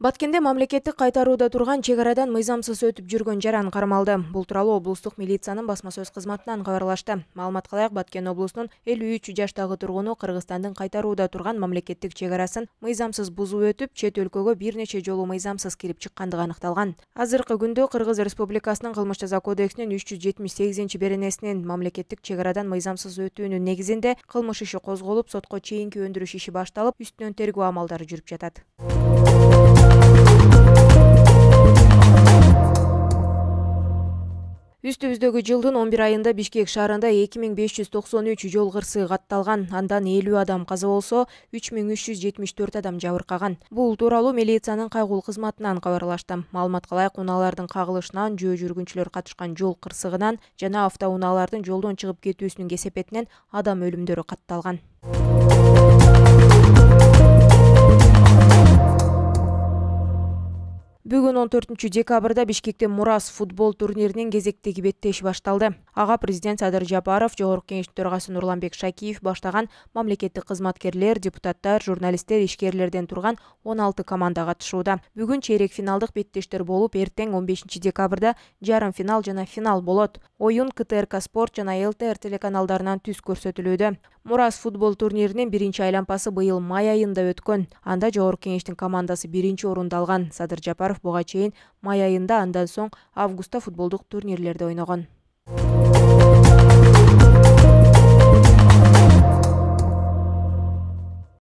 Баткенде мамлекеттик кайтарууда турган чек арадан мыйзамсыз өтүп жүргөн жаран кармалды. Бул тууралуу облустук милициянын басма сөз кызматынан кабарлашты. Маалыматка ылайык, Баткен облусунун 53 жаштагы тургуну Кыргызстандын кайтарууда турган мамлекеттик чек арасын мыйзамсыз бузуп өтүп, чет өлкөгө бир нече жолу мыйзамсыз кирип чыккандыгы аныкталган. Азыркы күндө Кыргыз Республикасынын кылмыш жаза кодексинин 378-беренесинин мамлекеттик чек арадан мыйзамсыз өтүүнүн негизинде кылмыш иши козголуп, сотко чейинки өндүрүш иши башталып, үстүнөн тергөө амалдары жүрүп жатат. Үстүбүздөгү жылдын 11 айында Бишкек шаарында 2593 жол кырсыгы катталган, андан 50 адам каза болсо, 3374 адам жабыркаган. Бул тууралуу милициянын кайгылуу кызматынан кабарлашты. Маалыматка ылайык, унаалардын кагылышынан, жөө жүргүнчүлөр катышкан жол кырсыгынан жана автоунаалардын жолдон чыгып кетүүсүнүн кесепетинен адам өлүмдөрү катталган. Бүгүн 14-декабрда Бишкекте Мурас футбол турниринин кезектеги беттеши башталды. Ага президент Садыр Жапаров, жогорку кеңештин төрагасы Нурланбек Шакиев баштаган мамлекеттик кызматкерлер, депутаттар, журналисттер, ишкерлерден турган 16 команда катышууда. Бүгүн чейрек финалдык беттештер болуп, эртең 15-декабрда жарым финал жана финал болот. Оюн КТРК Спорт жана ЛТР телеканалдарынан түз көрсөтүлүүдө. Мурас футбол турниринин биринчи айлампасы быйыл май айында өткөн. Анда жогорку кеңештин командасы биринчи орунду алган. Садыр Жапаров буга чейин май айында, андан соң августта футболдук турнирлерде ойногон.